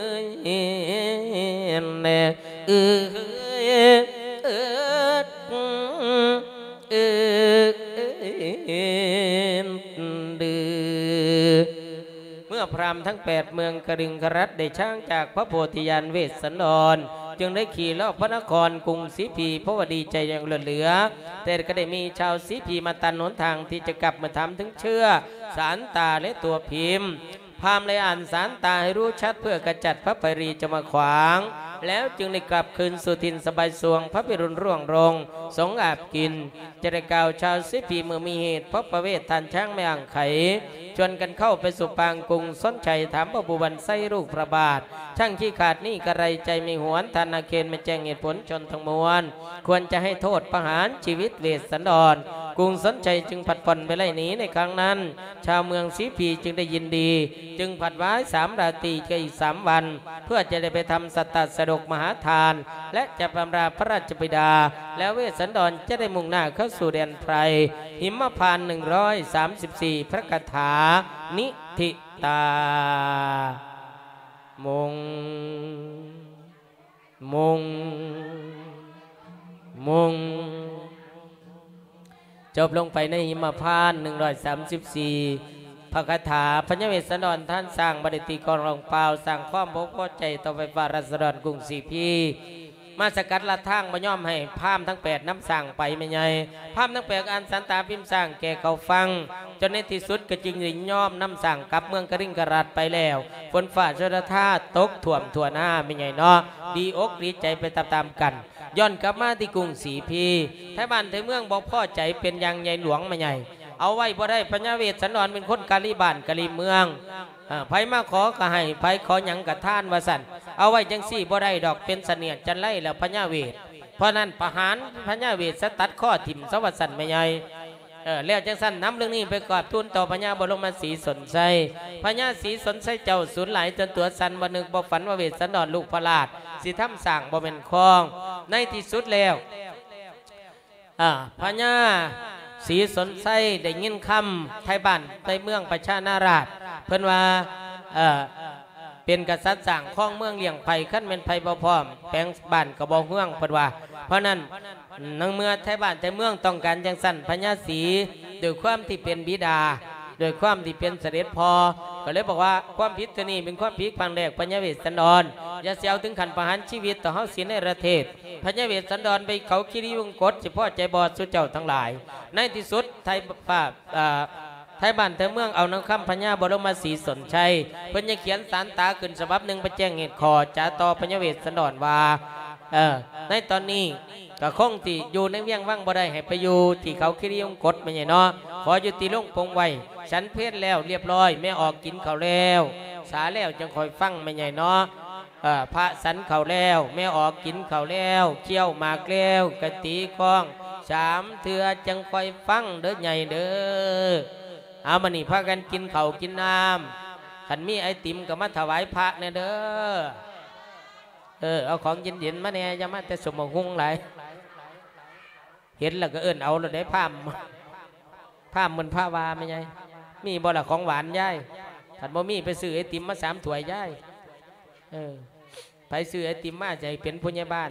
ເອີຍ ເອີຍ ເອີຍ ເອີຍ ເມື່ອພຣາມທັງແປດເມືອງຄະລິງຄະລັດໄດ້ຊາງຈາກພະໂພທິຍານເວດສັນດອນ ຈຶ່ງໄດ້ຂີ່ລອບພະນະຄອນກຸງສີພີ ເພາະວ່າດີໃຈຢ່າງລ້ນເຫຼືອ, ແຕ່ກໍໄດ້ມີຊາວສີພີມາຕັນຫົນທາງທີ່ຈະກັບມາຖາມເຖິງເຊື້ອສານຕາ ແລະ ຕົວພິມ. ພາມໄດ້ອ່ານສານຕາໃຫ້ຮູ້ຊັດ ເພື່ອຂະຈັດພະໄພຣີຈະມາຂວາງ, ແລ້ວຈຶ່ງໄດ້ກັບຄືນສູ່ຖິ່ນສະບາຍສວງ ພະພິລຸນຮ່ວງລົງ ສົງອາບກິນ. ຈະໄດ້ກ່າວຊາວສີພີເມື່ອມີເຫດ ເພາະປະເວດທ່ານຊ້າງແມ່ອ່າງໄຂ ຊວນກັນເຂົ້າໄປສູ່ປາງກຸງສົນໄຊ ຖາມພະພູບັນໄຊລູກພະບາດ, ຊ່າງຂີ້ຂາດນີ້ກະໄລໃຈໄມ່ຫວນ, ທ່ານນາເຄນແມ່ແຈ້ງເຫດຜົນຊົນທັງມວນ ຄວນຈະໃຫ້ໂທດປະຫານຊີວິດເວດສັນດອນ. ກຸງສົນໄຊຈຶ່ງຜັດຜ່ອນໄປໄລ່ໜີໃນຄັ້ງນັ້ນ. ຊາວເມືອງສີພີຈຶ່ງໄດ້ຍິນດີ, ຈຶ່ງຜັດວາຍສາມລາຕີກັບອີກສາມວັນ ເພື່ອຈະໄດ້ໄປທຳສັດຕະສະດົກມະຫາທານ ແລະ ຈະບຳລາພະລາຊະບິດາ, ແລ້ວເວດສັນດອນຈະໄດ້ມຸ່ງໜ້າເຂົ້າສູ່ແດນໄພ ຫິມມະພານໜຶ່ງຮ້ອຍສາມສິບສີ່ ພະຄາຖາ ນິທິຕາ ມຸງ ມຸງ ມຸງ ຈົບລົງໄປໃນຫິມມະພານໜຶ່ງຮ້ອຍສາມສິບສີ່ ພະຄາຖາ. ພະຍາເວດສັນດອນທ່ານສ້າງບໍ່ໄດ້ຕີກອງຮ້ອງປ່າວ ສ້າງຄວາມບໍ່ພໍໃຈຕໍ່ໄຟຟ້າລາຊະດອນກຸງສີພີ ມາສະກັດລັດທາງ ບໍ່ຍອມໃຫ້ພາມທັງແປດນຳຊ້າງໄປແມ່ໃຫຍ່. ພາມທັງແປດອ່ານສານຕາພິມຊ້າງແກ່ເຂົາຟັງ, ຈົນໃນທີ່ສຸດກໍຈຶ່ງໄດ້ຍອມນຳຊ້າງກັບເມືອງຄະລິງຄະລັດໄປແລ້ວ. ຝົນຟ້າຊົນລະທາຕົກຖ້ວມທົ່ວນາແມ່ໃຫຍ່ເນາະ, ດີອົກດີໃຈໄປຕາມໆກັນ. ຍ້ອນກັບມາທີ່ກຸງສີພີ, ໄທບ້ານໄທເມືອງບໍ່ພໍໃຈເປັນຢ່າງໃຫຍ່ຫຼວງແມ່ໃຫຍ່. ເອົາໄວ້ບໍ່ໄດ້, ພະຍາເວດສັນດອນເປັນຄົນກາລີບ້ານກາລີເມືອງ. ເອີ ໃຜມາຂໍກໍໃຫ້, ໃຜຂໍຫຍັງກໍທານວ່າຊັ້ນ. ເອົາໄວ້ຈັ່ງຊີ້ບໍ່ໄດ້ດອກ, ເປັນສະເໜຽດຈັນໄລແລ້ວພະຍາເວດ. ເພາະນັ້ນປະຫານພະຍາເວດຊະ, ຕັດຄໍຖິ້ມຊະວ່າຊັ້ນແມ່ໃຫຍ່. ເອີ ແລ້ວຈັ່ງຊັ້ນນຳເລື່ອງນີ້ໄປກາບທູນຕໍ່ພະຍາບໍລົມມະສີສົນໄຊ. ພະຍາສີສົນໄຊເຈົ້າສູນຫຼາຍຈົນຕົວສັ່ນ, ບໍ່ນຶກບໍ່ຝັນວ່າເວດສັນດອນລູກພະລາດຊິທຳສ້າງບໍ່ແມ່ນຄອງ. ໃນທີ່ສຸດແລ້ວ ອາ ພະຍາສີສົນໄຊໄດ້ຍິນຄຳໄທບ້ານໄທເມືອງປະຊານາລາດ ເພິ່ນວ່າ ເອີ ເປັນກະສັດສ້າງຄອງເມືອງລ້ຽງໄພ, ຄັນແມ່ນໄພບໍ່ພ້ອມ ແຂວງບ້ານກໍບໍ່ເຮືອງ ເພິ່ນວ່າ. ເພາະນັ້ນ ໃນເມື່ອໄທບ້ານໄທເມືອງຕ້ອງການຈັ່ງຊັ້ນ, ພະຍາສີດ້ວຍຄວາມທີ່ເປັນບິດາ, ດ້ວຍຄວາມທີ່ເປັນສະເດັດພໍ່ ກໍເລີຍບອກວ່າ ຄວາມຜິດເທື່ອນີ້ເປັນຄວາມຜິດຄັ້ງແລກ, ພະຍາເວດສັນດອນ ຢ່າຊິເອົາເຖິງຂັ້ນປະຫານຊີວິດຕໍ່ເຮົາສີເນລະເທດ. ພະຍາເວດສັນດອນໄປເຂົາຄີຣີວົງກົດ ຊິພໍໃຈບໍ່ສູ່ເຈົ້າທັງຫຼາຍ? ໃນທີ່ສຸດ ໄທ ເອີ ໄທບ້ານໄທເມືອງເອົານຳຄຳພະຍາບໍລົມມະສີສົນໄຊ, ເພິ່ນຍັງຂຽນສານຕາຂຶ້ນສະບັບໜຶ່ງໄປແຈ້ງເຫດຂໍ້ຈາຕໍ່ພະຍາເວດສັນດອນວ່າ ເອີ ໃນຕອນນີ້ກໍຄົງທີ່ຢູ່ໃນວຽງວັງບໍ່ໄດ້, ໃຫ້ໄປຢູ່ທີ່ເຂົາຄີຣີວົງກົດແມ່ໃຫຍ່ເນາະ, ຂໍຢູ່ທີ່ໂລງປົງໄວ້. ສັນເພນແລ້ວລຽບຮ້ອຍ, ແມ່ອອກກິນເຂົ້າແລ້ວ, ສາແລ້ວຈັ່ງຄ່ອຍຟັງແມ່ໃຫຍ່ເນາະ. ເອີ ພະສັນເຂົ້າແລ້ວ, ແມ່ອອກກິນເຂົ້າແລ້ວ, ຄ້ຽວໝາກແລ້ວ, ກະຕີຄ້ອງສາມເທື່ອຈັ່ງຄ່ອຍຟັງເດີໃຫຍ່ເດີ. ເອົາ ບາດນີ້ພາກັນກິນເຂົ້າກິນນ້ຳ, ຄັນມີໄອຕິມກໍມາຖວາຍພະແດ່ເດີ. ເອີ ເອົາຂອງເຢັນໆມາແດ່, ຢ່າມາແຕ່ສົມບັກຫຸ່ງຫຼາຍ. ເຫັນແລ້ວກໍເອີ້ນເອົາໂລດເດ້ ພາມ ພາມເພິ່ນພາວ່າແມ່ໃຫຍ່. ມີບໍ່ລະຂອງຫວານຍາຍ? ຄັນບໍ່ມີໄປຊື້ໄອຕິມມາສາມຖ້ວຍຍາຍ. ເອີ ໃຜຊື້ໄອຕິມມາຈະໃຫ້ເປັນຜູ້ໃຫຍ່ບ້ານ.